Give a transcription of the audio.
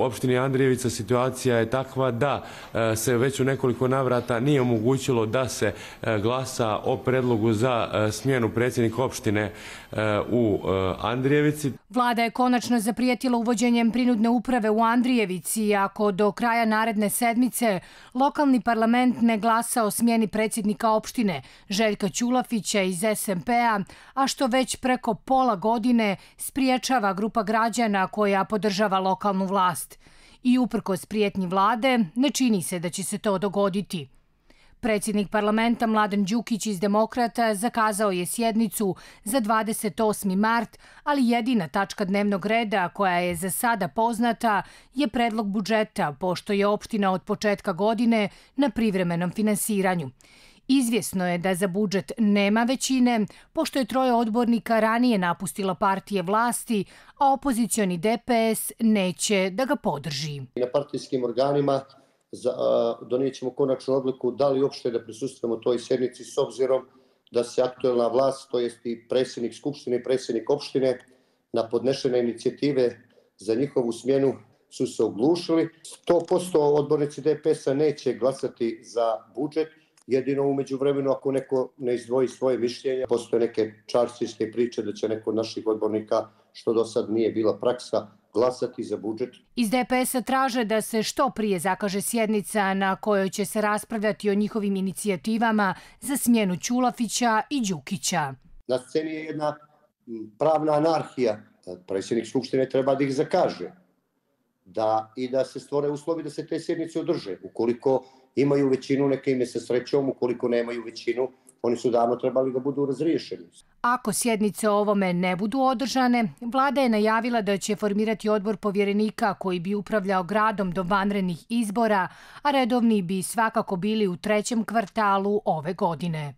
opštini Andrijevica situacija je takva da se već u nekoliko navrata nije omogućilo da se glasa o predlogu za smjenu predsjednika opštine u Andrijevici. Vlada je konačno zaprijetila uvođenjem prinudne uprave u Andrijevici ako do kraja naredne sedmice lokalni parlament ne glasa o smjeni predsjednika opštine Željka Ćulafića iz SMP-a, a što već preko pola godine spriječava grupa građana koja podržava lokalnu vlast. I uprkos prijetnji vlade, ne čini se da će se to dogoditi. Predsjednik parlamenta Mladen Đukić iz Demokrata zakazao je sjednicu za 28. mart, ali jedina tačka dnevnog reda koja je za sada poznata je predlog budžeta, pošto je opština od početka godine na privremenom finansiranju. Izvjesno je da za budžet nema većine, pošto je 3 odbornika ranije napustilo partije vlasti, a opozicioni DPS neće da ga podrži. Na partijskim organima donijet ćemo konačnu odluku da li uopšte da prisustvujemo toj sjednici s obzirom da se aktuelna vlast, to jest i predsjednik Skupštine i predsjednik opštine, na podnešene inicijative za njihovu smjenu su se oglušili. 100% odbornici DPS-a neće glasati za budžet, jedino u međuvremenu ako neko ne izdvoji svoje mišljenje. Postoje neke čarsijske priče da će neko od naših odbornika, što do sad nije bila praksa, glasati za budžet. Iz DPS-a traže da se što prije zakaže sjednica na kojoj će se raspravljati o njihovim inicijativama za smjenu Ćulafića i Đukića. Na sceni je jedna pravna anarhija. Predsjednik Skupštine treba da ih zakaže i da se stvore uslovi da se te sjednice održe. Ukoliko imaju većinu, neka ime sa srećom, ukoliko nemaju većinu, oni su davno trebali da budu razriješeni. Ako sjednice o ovome ne budu održane, vlada je najavila da će formirati odbor povjerenika koji bi upravljao gradom do vanrednih izbora, a redovni bi svakako bili u 3. kvartalu ove godine.